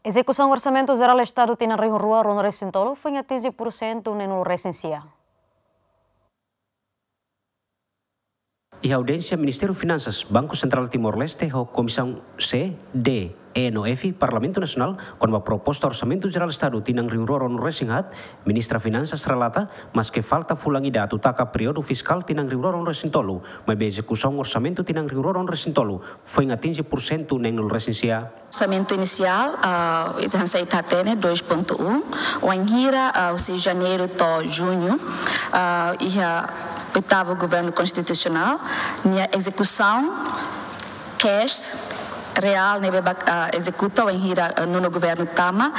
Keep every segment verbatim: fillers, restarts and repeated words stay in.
Ezekusaun Orsamentu Jerál Estadu tinan rihun rua ruanulu-resin-tolu foin atinje pursentu neenulu-resin-sia. Iha audiénsia, Ministériu Finansas, Banku Sentrál Timor-Leste ho Komisaun C, D, E no F Parlamentu Nasionál kona-ba proposta Orsamentu Jerál Estadu tinan rihun rua ruanulu-resin-haat, Ministra Finansas relata, maske falta fulan ida atu taka períodu fiskál tinan rihun rua ruanulu-resin-tolu, maibé ezekusaun orsamentu tinan rihun rua ruanulu-resin-tolu foin atinje pursentu neenulu-resin-sia. Orsamentu inisiál, ah, ita hanesan ita hatene dois ponto um, wainhira, ah, husi Janeiru to'o Juñu, ah, iha oitavu Governu Konstitusionál, nia ezekusaun cash reál ne'ebé ba, ah, ezekuta wainhira, ah, nonu governu tama,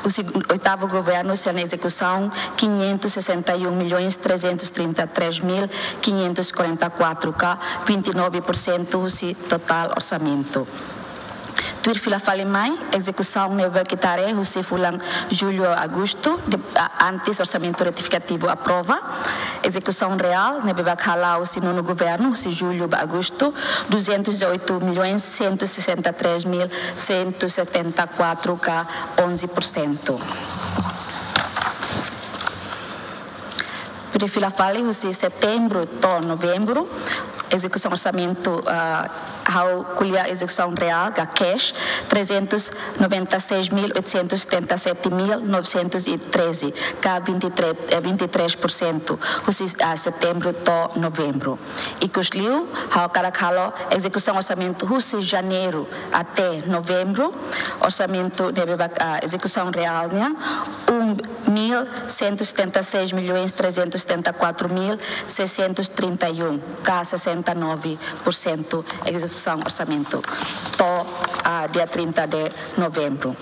husi oitavu governu sira-nia ezekusaun quinhentos e sessenta e um milhões trezentos e trinta e três mil quinhentos e quarenta e quatro, ka vinte e nove por cento husi totál orsamentu. Tuir fila fali mai, ezekusaun ne'ebé ita haree husi fulan Jullu, Agostu, de, a, antes orsamentu retifikativu aprova. Ezekusaun reál ne'ebé hala'o husi nonu governu, husi Jullu ba Agostu, duzentos e oito milhões cento e sessenta e três mil cento e setenta e quatro, ka onze por cento. Tuir fila fali husi Setembru to'o Novembru, ezekusaun orsamentu, ah, ha'u ko'alia ezekusaun reál, ka cash, trezentos noventa e seis mil oitocentos setenta e sete mil novecentos e treze, ka vinte e três, eh, vinte e três por cento, husi, ah, Setembru to'o Novembru. Ikusliu, ha'u hakarak halo ezekusaun orsamentu husi Janeiru até Novembru, orsamentu ne'ebé ba, ah, ezekusaun reál nian, um mil cento e setenta e seis milhões trezentos e setenta e quatro mil seiscentos e trinta e um, ka sessenta e nove por cento ezekusaun orsamentu to'o, ah, dia trinta de Novembru.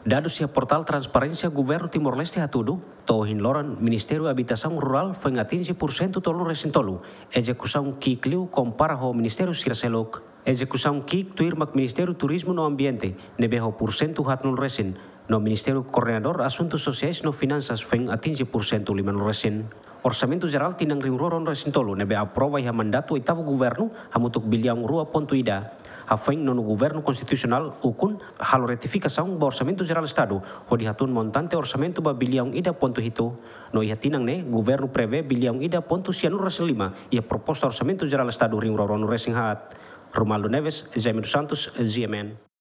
Dadus iha portál Transparénsia Governu Timor-Leste hatudu, to'o ohin loron Ministériu Abitasaun Rurál foin atinje pursentu tolunulu-resin-tolu ezekusaun ki'ik liu kompara ho ministériu sira seluk. Ezekusaun ki'ik tuirmak Ministériu Turizmu no Ambiente ne'ebé ho pursentu haatnulu-resin, no Ministériu Koordenadór Asuntus Sosiais no Finansas foin atinje pursentu limanulu-resin. Orsamentu Jerál tinan rihun rua ruanulu-resin-tolu ne'ebé aprova iha mandatu oitavu governu hamutuk biliaun rua pontu ida. Hafoin nonu governu konstitusionál ukun halo retifikasaun ba Orsamentu Jerál Estadu hodi hatún montante orsamentu ba biliaun ida pontu hitu. No iha tinan ne'e, governu prevee biliaun ida pontu sianulu-resin-lima iha proposta Orsamentu Jerál Estadu rihun rua ruanulu-resin-haat. Romualdo Neves, Jaime dos Santos, G M N.